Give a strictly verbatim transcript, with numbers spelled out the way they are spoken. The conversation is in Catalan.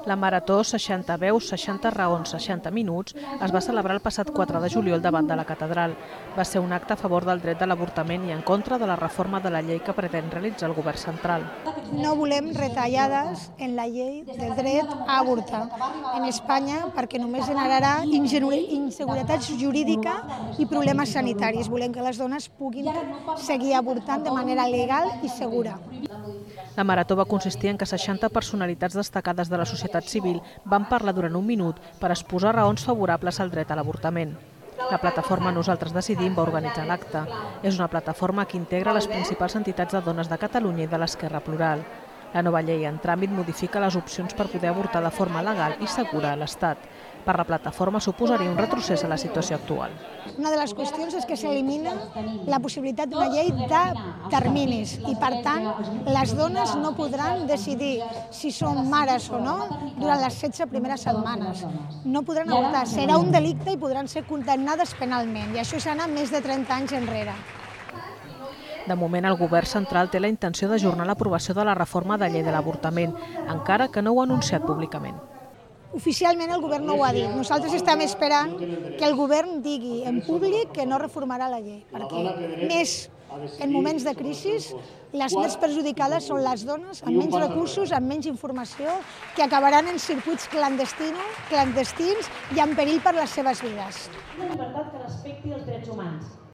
La marató seixanta veus, seixanta raons, seixanta minuts es va celebrar el passat quatre de juliol davant de la catedral. Va ser un acte a favor del dret de l'avortament i en contra de la reforma de la llei que pretén realitzar el govern central. No volem retallades en la llei del dret a avortar en Espanya perquè només generarà inseguretats jurídica i problemes sanitaris. Volem que les dones puguin seguir avortant de manera legal i segura. La marató va consistir en que seixanta personalitats destacades de la societat civil van parlar durant un minut per exposar raons favorables al dret a l'avortament. La plataforma Nosaltres Decidim va organitzar l'acte. És una plataforma que integra les principals entitats de dones de Catalunya i de l'Esquerra Plural. La nova llei en tràmit modifica les opcions per poder avortar de forma legal i segura a l'Estat. Per la plataforma suposaria un retrocés a la situació actual. Una de les qüestions és que s'elimina la possibilitat d'una llei de terminis i, per tant, les dones no podran decidir si són mares o no durant les setze primeres setmanes. No podran avortar, serà un delicte i podran ser condemnades penalment, i això s'ha anat més de trenta anys enrere. De moment, el govern central té la intenció d'ajornar l'aprovació de la reforma de llei de l'avortament, encara que no ho ha anunciat públicament. Oficialment el govern no ho ha dit. Nosaltres estem esperant que el govern digui en públic que no reformarà la llei, perquè més en moments de crisi les més perjudicades són les dones amb menys recursos, amb menys informació, que acabaran en circuits clandestins, clandestins i en perill per les seves vides. Una llibertat que respecti els drets humans.